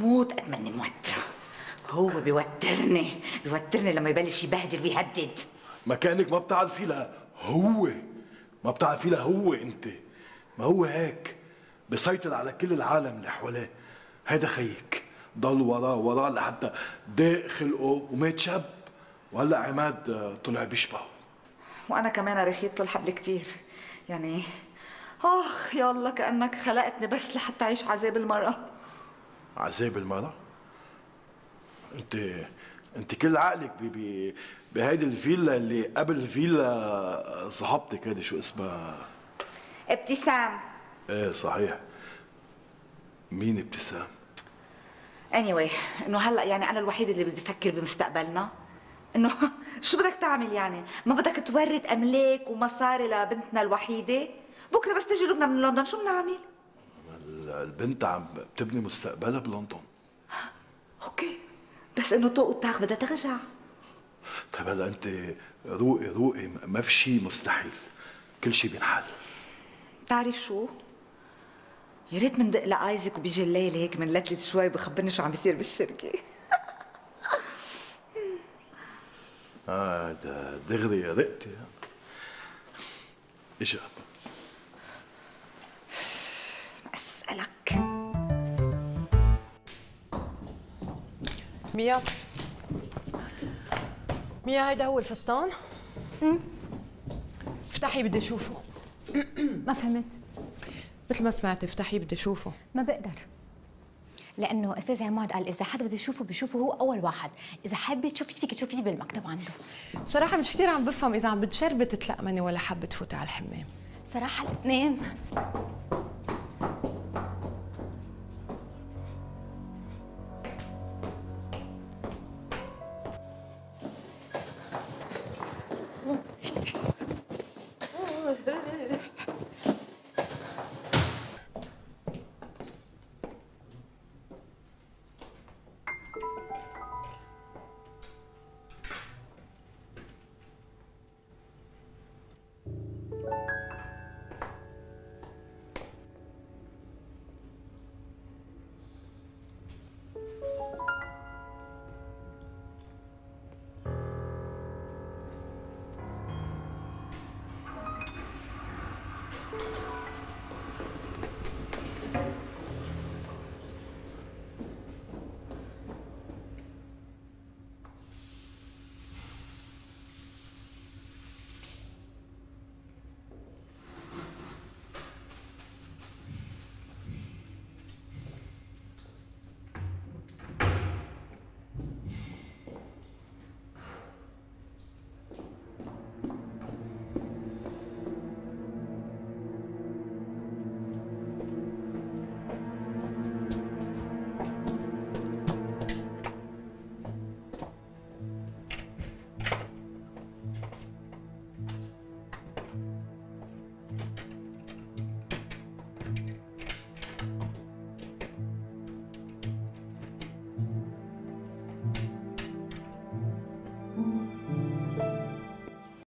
موت قد ماني موترة. هو بيوترني لما يبلش يبهدل ويهدد. ما كأنك ما بتعرفي له هو، ما بتعرفي له هو انت. ما هو هيك بيسيطر على كل العالم اللي حواليه. هيدا خيك ضل وراه لحتى ضاق خلقه ومات شاب، وهلا عماد طلع بيشبهه. وانا كمان رخيت له الحبل كتير يعني. اخ يالله كأنك خلقتني بس لحتى اعيش عذاب المرأة. عذاب المرأة؟ انت كل عقلك بهيدي الفيلا اللي قبل الفيلا صاحبتك هيدي شو اسمها؟ ابتسام. ايه صحيح. مين ابتسام؟ anyway انه هلا يعني انا الوحيده اللي بدي افكر بمستقبلنا. انه شو بدك تعمل يعني؟ ما بدك تورد املاك ومصاري لبنتنا الوحيده؟ بكره بس تجي لبنى من لندن شو بنعمل؟ البنت عم بتبني مستقبلها بلندن. اوكي بس انه طوق الطاق بدها ترجع. طيب هلا انت روقي ما في شيء مستحيل، كل شيء بينحل. بتعرف شو؟ يا ريت مندق لايزك وبيجي الليل هيك منلتلت شوي بخبرني شو عم بيصير بالشركه. ده دغري رقتي. اجا اسالك ميا هيدا هو الفستان؟ افتحي بدي اشوفه. ما فهمت. مثل ما سمعتي افتحي بدي اشوفه. ما بقدر، لانه استاذ عماد قال اذا حدا بده يشوفه بيشوفه هو اول واحد، اذا حابه تشوفي فيك تشوفيه بالمكتب عنده. بصراحه مش كثير عم بفهم اذا عم بتشربت تلقمني ولا حابه تفوتي على الحمام. صراحه الاثنين.